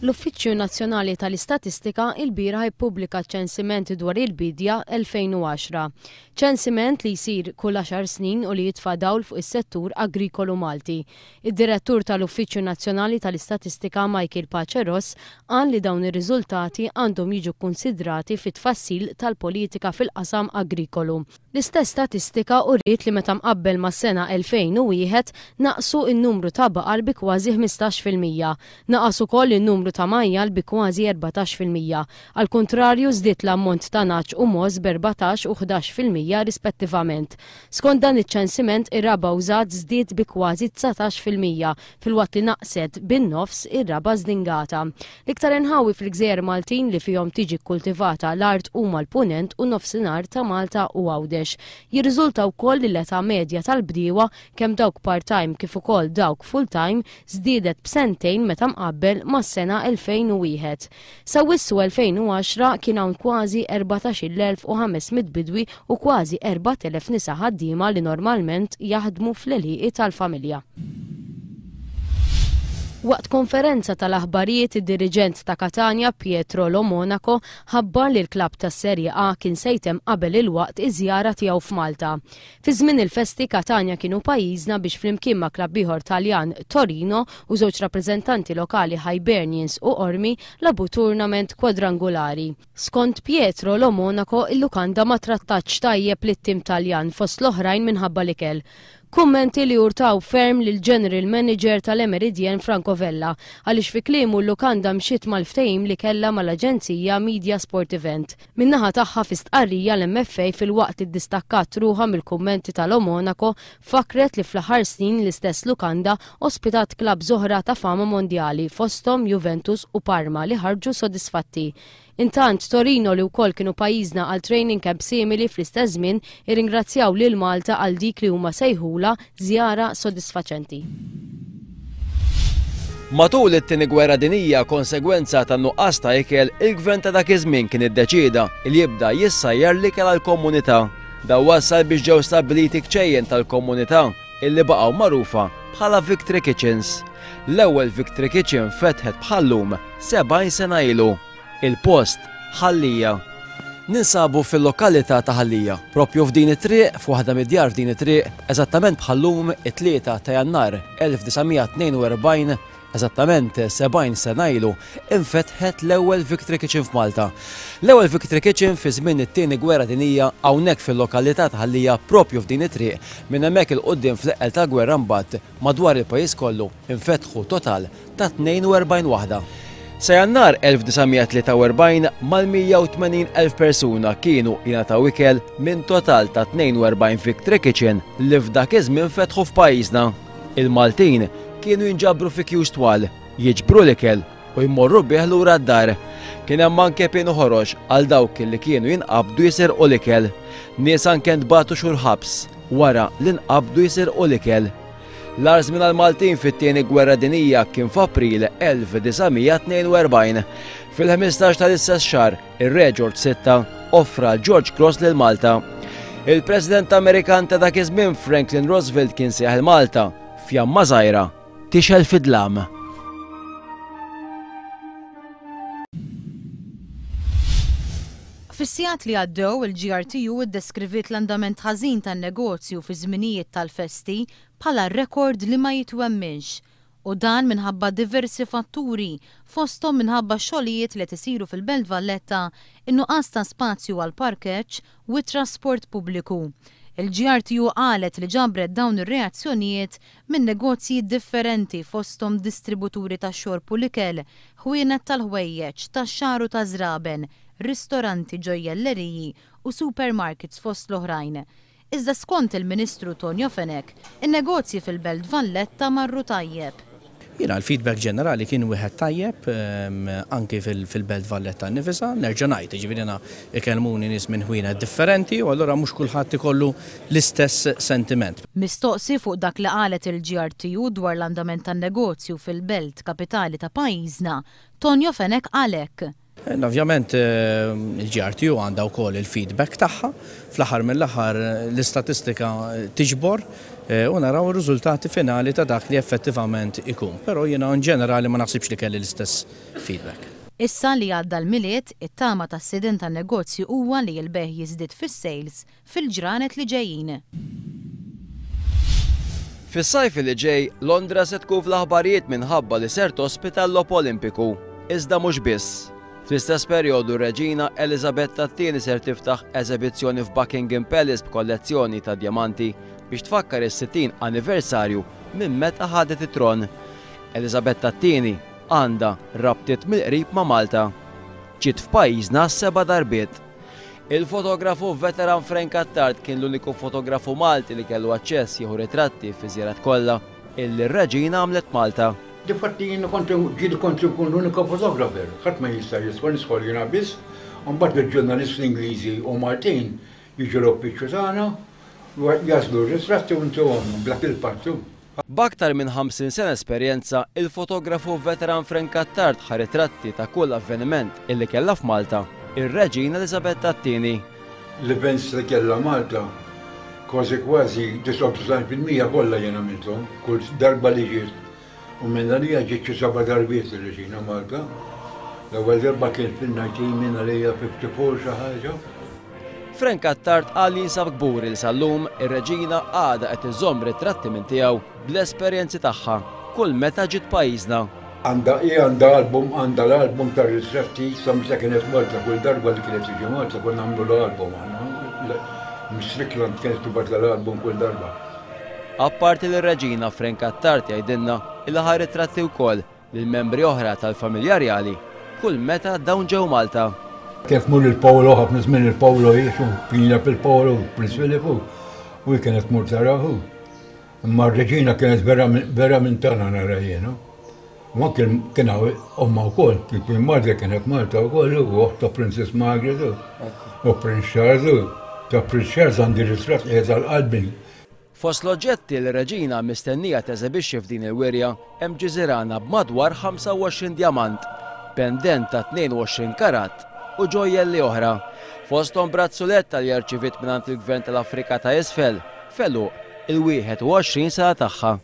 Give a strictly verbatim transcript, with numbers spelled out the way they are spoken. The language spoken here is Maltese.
L-Uffiċċju Nazzjonali tal-Istatistika ilbieraħ ippubblika ċensiment dwar il-bidja elfejn u għaxra. Ċensiment li jsir kull għaxar snin u li jitfa' dawl fuq is-settur agrikolu Malti. Id-Direttur tal-Uffiċċju Nazzjonali tal-Istatistika Michael Pace Ross qal li dawn ir-riżultati għandhom jiġu kkunsidrati fit-tfassil tal-politika fil-qasam agrikolu. L-istess statistika uriet li meta mqabbel mas-sena elfejn u wieħed naqsu n-numru ta' baqar bi kważi ħmistax fil-mija. Naqas ukoll in-numru ta' majjal bi kważi erbatax fil-mija. Al kontrarju żdied l-ammont ta' nagħaġ u mogħoż b'erbatax u ħdax fil-mija rispettivament. Skont dan iċ-ċensiment ir-raba' użat żdied bi kważi dsatax fil-mija filwaqt li naqset bin-nofs ir-raba' żdingata. L-iktar inħawi fil-Gżejjer Maltin li fihom tiġi kkultivata l-art huma l-Punent u nofsinhar ta' Malta u Għawdex. Jirriżulta wkoll li l-età medja tal-bdiewa kemm dawk part-time kif ukoll dawk full-time żdiedet b'sentejn meta mqabbel mas-sena elfejn u wieħed. Sa wissu elfejn u għaxra kien hawn kważi erbatax-il elf u ħames mitt bidwi u kważi erbat elef nisa ħaddiema li normalment jaħdmu fl-għelieqi tal-familja. Waqt konferenza tal-aħbarijiet id-diriġent ta' Catania Pietro Lo Monaco ħabbar li l-klabb tas-Serie A kien se jtemm qabel il-waqt iż-żjara tiegħu f'Malta. Fi żmien il-festi Catania kienu pajjiżna biex flimkien ma' klabb ieħor Taljan Torino u żewġ rappreżentanti lokali Hibernians u Qormi labu tournament kwadrangulari. Skont Pietro Lo Monaco il-lukanda ma trattatx tajjeb lit-tim Taljan fost l-oħrajn minħabba l-ikel. Kummenti li urtaw ferm lil General Manager tal-Le Méridien Franco Vella għaliex fi kliemu l-lukanda mxiet mal-ftehim li kellha mal-Aġenzija Media Sport Event. Min-naħa tagħha fi stqarrija l-M F A filwaqt li ddistakkat ruħha mill-kummenti ta' Lo Monaco fakret li fl-aħħar snin l-istess lukanda ospitat klabb oħra ta' fama mondjali fosthom Juventus u Parma li ħarġu sodisfatti. Intant Torino li wkoll kienu pajjiżna għal training camp simili fl-istess żmien irringrazzjaw lil Malta għal dik li huma sejħula żjara sodisfaċenti. Matul it-tieni gwerra dinija konsegwenza ta' nuqqas ta' ikel, il-gvern ta' dak iż-żmien kien iddeċieda li jibda jissajjar l-ikel għall-komunità. Dan wassal biex ġew stabbiliti kċejjen tal-komunità illi baqgħu magħrufa bħala Victory Kitchens. L-ewwel Victory Kitchen fetħet bħallum sebgħin sena ilu. Il-post Ħal Lija. Ninsabu fil-lokalità ta' Ħal Lija, propju f'din it-triq, f'waħda mid-djar f'din it-triq, eżattament bħallum it-tlieta ta' Jannar elf disa' mija tnejn u erbgħin, eżattament sebgħin sena ilu, infetħet l-ewwel Victory Kitchen f'Malta. L-ewwel Victory Kitchen fi żmien it-tieni gwerra dinija hawnhekk fil-lokalità ta' Ħal Lija propju f'din it-triq, minn hemmhekk il-quddiem fl-eqqel tal-gwerra mbagħad madwar il-pajjiż kollu infetħu total ta' tnejn u erbgħin waħda. Sa Jannar elf disa' mija tlieta u erbgħin mal-mija u tmenin elf persuna kienu jingħataw ikel minn total ta' tnejn u erbgħin Victory Kitchen li f'dak iż-żmien fetħu f'pajjiżna. Il-Maltin kienu jinġabru fi kjus twal, jiġbru l-ikel u jmorru bih lura d-dar. Kien hemm anke pienu ħorox għal dawk li kienu jinqabdu jisirqu l-ikel. Nies anke ntbagħtu xhur ħabs wara li nqabdu jisirqu l-ikel. L-agħar żmien għall-Maltin fit-tieni gwerra dinija kien f'April elf disa' mija tnejn u erbgħin. Fil-ħmistax tal-istess xahar, ir-Re George sitta offra George Cross lil Malta. Il-President Amerikan ta' dak iż-żmien Franklin Roosevelt kien sejjaħ il-Malta fjamma żgħira tixgħel fid-dlam. Fis-sigħat li għaddew il-G R T U iddeskriviet l-andament ħażin tan-negozju fi żminijiet tal-festi bħala rekord li ma jitwemminx. U dan minħabba diversi fatturi, fosthom minħabba xogħlijiet li qed isiru fil-Belt Valletta, in-nuqqas ta' spazju għal parkeġġ u t-trasport pubbliku. Il-G R T U qalet li ġabret dawn ir-reazzjonijiet minn negozji differenti fosthom distributuri ta' xorb u l-ikel, ħwienet tal-ħwejjeġ, tax-xagħar u ta' żraben, ristoranti, ġojjelleriji u supermarkets fost l-oħrajn. Iżda skont il-Ministru Tonio Fenech, in-negozji fil-Belt Valletta marru tajjeb. Jiena l-feedback ġenerali kien wieħed tajjeb, ehm, anki fil-, fil-Belt Valletta nnifisha, nerġa' ngħid, jiġifieri jiena ikellmuni nies minn ħwienet differenti u allura mhux kulħadd ikollu l-istess sentiment. Mistoqsi fuq dak li qalet il-G R T U dwar l-andament tan-negozju fil-Belt Kapitali ta' pajjiżna, Tonio Fenech qal hekk. Ovvjament il-G R T U għandha wkoll il-feedback tagħha, fl-aħħar mill-aħħar l-istatistika tiġbor u naraw ir-riżultati finali ta' dak li effettivament ikun. Però jiena in ġenerali ma naħsibx li kelli l-istess feedback. Issa li għadda l-Milied, it-tama tas-sidien tan-negozju huwa li l-bejgħ jiżdied fis-sales fil-ġranet li ġejjin. Fis-sajf li ġej, Londra se tkun fl-aħbarijiet minħabba li ser tospita l-Logħob Olimpiku. Iżda mhux biss. Fl-istess perjodu, Reġina Elizabetta t-tieni ser tiftaħ eżibizzjoni f'Buckingham Palace b'kollezzjoni ta' djamanti biex tfakkar is-sittin anniversarju minn meta ħadet it-tron. Elizabetta t-tieni għandha rabtiet mill-qrib ma' Malta. Ġiet f'pajjiżna seba' darbiet. Il-fotografu veteran Frank Attard kien l-uniku fotografu Malti li kellu aċċess jieħu ritratti fi żjarat kollha illi r-Reġina għamlet Malta. Difatti jien kont ġieli kont nkun l-unika fotografer, ħadd ma jista' jiswa nidħol jiena biss, u mbagħad il-ġurnalisti Ingliżi u Maltin jiġu l-uffiċċju tagħna, jagħżlu r-ritratti u ntuhom bla il-pattu. B'aktar minn ħamsin sena esperjenza, il-fotografu veteran Frank Attard ħa ritratti ta' kull avveniment illi kellha f'Malta ir-Reġina Elizabetta t-tieni. L-events li kellha Malta, kważi kważi disgħa u disgħin fil-mija kollha jien għamilthom, kull darba li ġiet. U minn għalija ġiet xi seba' darbiet ir-Reġina Malta. L-ewwel darba kien fil-elf disa' mija ħamsa u erbgħin xi ħaġa. Frank Attard qal li jinsab kburi li sal-lum ir-Reġina għadha qed iżomm ritratti minn tiegħu bl-esperjenzi tagħha kull meta ġiet pajjiżna. Għandha hi għandha album, għandha l-album tar ritratti sa meta kienet Malta, kull darba li kienet tiġi Malta konna nagħmlu l-album aħna. Strickland kienet tibgħat l-album kull darba. Apparti l-Reġina, Frank Attard jgħidilna il ħa ritratti wkoll lil membri oħra tal-familja rjali kull meta dawn ġew Malta. Kif mur il-Paolo, ħafna żmien il-Paolo jiexu, kien jilgħab il-Paolo, Prince Philip, u kienet tmur tarahu. Imma r-Reġina kienet vera vera minn tagħna nara jiena. Ma kien kien hawn omma wkoll, kien Margaret kienet Malta wkoll, u oħta Princess Margaret u Prince Charles, u ta' Prince Charles għandi ritratt qiegħed għal qalbi. Fost l-oġġetti li reġina mistennija teżebixxi f'din il-wirja hemm ġiżirana b'madwar ħamsa u għoxrin djamant, pendent ta' tnejn u għoxrin karat u ġojjelli oħra. Fosthom brazzuletta li rċiviet mingħand il-Gvern tal-Afrika ta' Isfel, f'għeluq il-wieħed u għoxrin sena tagħha.